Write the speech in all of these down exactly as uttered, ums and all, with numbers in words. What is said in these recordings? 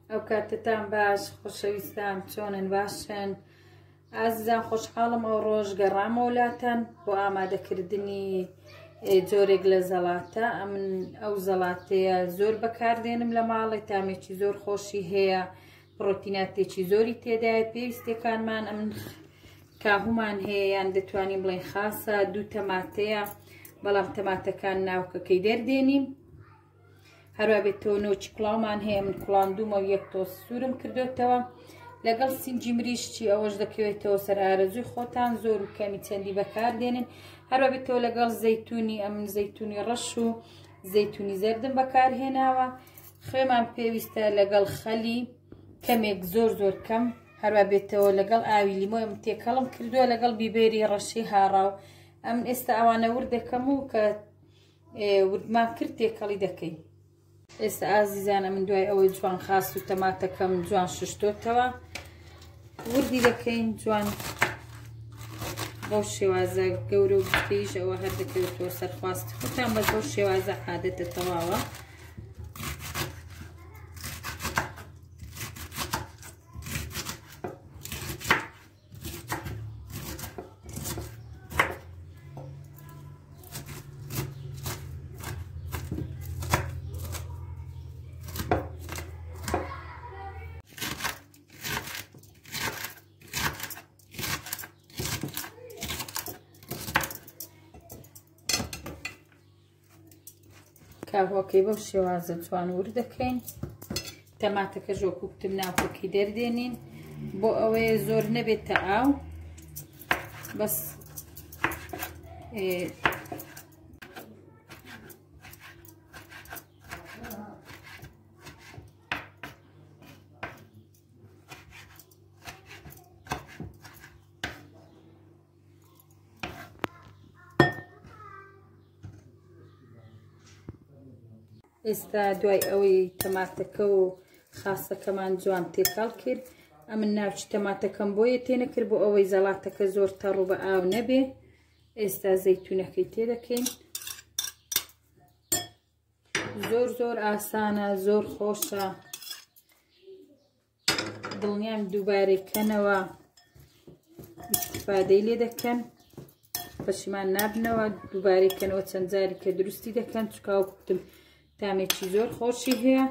ئەو کاتتان باش، خۆشەویستان چۆنن؟ باشن ئازیزان؟ خۆشحاڵم ئەو ڕۆژ گەڕامەوە لاتان بۆ ئامادەکردنی جۆرێک لە زەڵاتە. ئەمن ئەو زەڵاتەیە زۆر بەکاردێنم لە ماڵێ، تامێکی زۆر خۆشی هەیە، پرۆتیناتێکی زۆری تێدایە. پێویستەکانمان ئەمن کاهومان هەیە، یان دەتوانین بڵێن خاسە، دوو تەماتەیە، بەڵام تەماتەکان ناوکەکەی دەردێنین. هەروە بێتەوە نۆچی کوڵاومان هەیە، من کوڵاندومە و یەک تۆز سوورم کردوتەوە لەگەڵ سنجی مریشتی، ئەوەش دەکەوێتەوە سەر ئارەزووی خۆتان، زۆر و کەمی چەندی بەکاردێنن. هەروە بێتەوە لەگەڵ زەیتونی، ئەمن زەیتونی ڕەش و زەیتونی زەردم بەکارهێناوە. خوێمان پێویستە لەگەڵ خەلی کەمێک، زۆر زۆر کەم. هەروە بێتەوە لەگەڵ ئاوی لیمۆ ئەم تێکەڵم کردووە لەگەڵ بیبێری ڕەشی هاڕاو. ئەمن ئێستا ئەوانە ورد دەکەم و کە وردمان کرد تێکەڵی دەکەین. ئێستا ئازیزانە من دوای ئەوەی جوان خاس و تەماتەکەم جوان ششتۆتەوە وردی دەکەین جوان بەو شێوازە گەورە و بچکەیش، ئەوە هەر دەکەوێتەوە سەرخواستی خۆتان، بەس بەو شێوازە عادەتە تەواوە. کاهوەکەی بەو شێوازە جوان ورد دەکەین. تەماتەکە ژۆکوکتم ناوکەکەی دەردێنین بۆ ئەوەیە زۆر نەبێتە ئاو، بەس ئێستا دوای ئەوەی تەماتەکە و خاسەکەمان جوان تێکەڵ کرد، ئەمن ناوچی تەماتەکەم بۆیە تێنەکرد بۆ ئەوەی زەڵاتەکە زۆر تەڕ و بە ئاو نەبێ. ئێستا زەیتونەکەی تێدەکەین. زۆر زۆر ئاسانە، زۆر خۆشە، دڵنیام دووبارەی کەنەوە ئیستیفادەی لێ دەکەن، پەشیمان نابنەوە. دووبارەی کەنەوە چەند جاری کە دروستی دەکەن، چکا وەکوتم تامێکی زۆر خۆشی هەیە.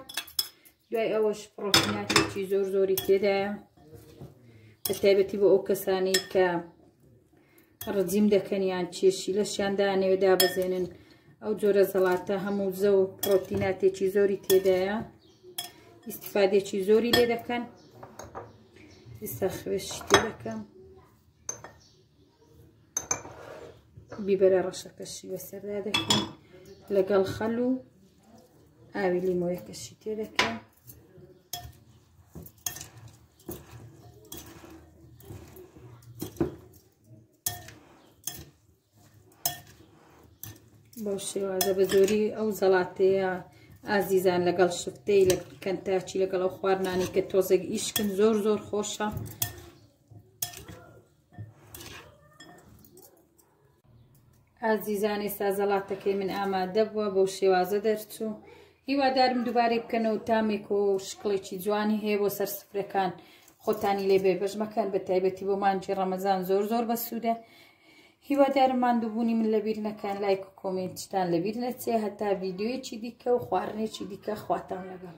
دوای ئەوەش پرۆتیناتێکی زۆر زۆری تێدایە، بە تایبەتی بۆ ئەو کەسانەی کە ڕجیم دەکەن یان کێشی لەشیان دانەوێ دابەزێنن، ئەو جۆرە زەڵاتە هەموو زە و پرۆتیناتێکی زۆری تێدایە، ئیستیفادێکی زۆری لێ دەکەن. ئێستا خوێشی تێ دەکەم، بیبەرە ڕەشەکەشی بەسەردا دەکەم لەگەڵ خەل و ئاوی لیمۆیەکەشی تێ دەکەم. بەو شێوازە بە زۆری ئەو زەڵاتەیە ئازیزان لەگەڵ شفتەی لە کەنتاچی لەگەڵ ئەو خواردنانی کە تۆزێک ئیشکن زۆر زۆر خۆشە. ئازیزان ئێستا زەڵاتەکەی من ئامادە بووە، بەو شێوازە دەرچوو. هیوادارم دووبارەی بکەنەوە، تامێک و شکڵێکی جوانی هەیە بۆ سەر سفرەکان، خۆتانی لێ بێبەش مەکەن، بە تایبەتی بۆ مانگی ڕەمەزان زۆر زۆر بەسوودە. هیوادارم ماندووبوونی من لەبیر نەکەن، لایک و کۆمێنتتان لەبیر نەچێ. هەتا ڤیدیۆیەکی دیکە و خواردنێکی دیکە، خواتان لەگەڵ.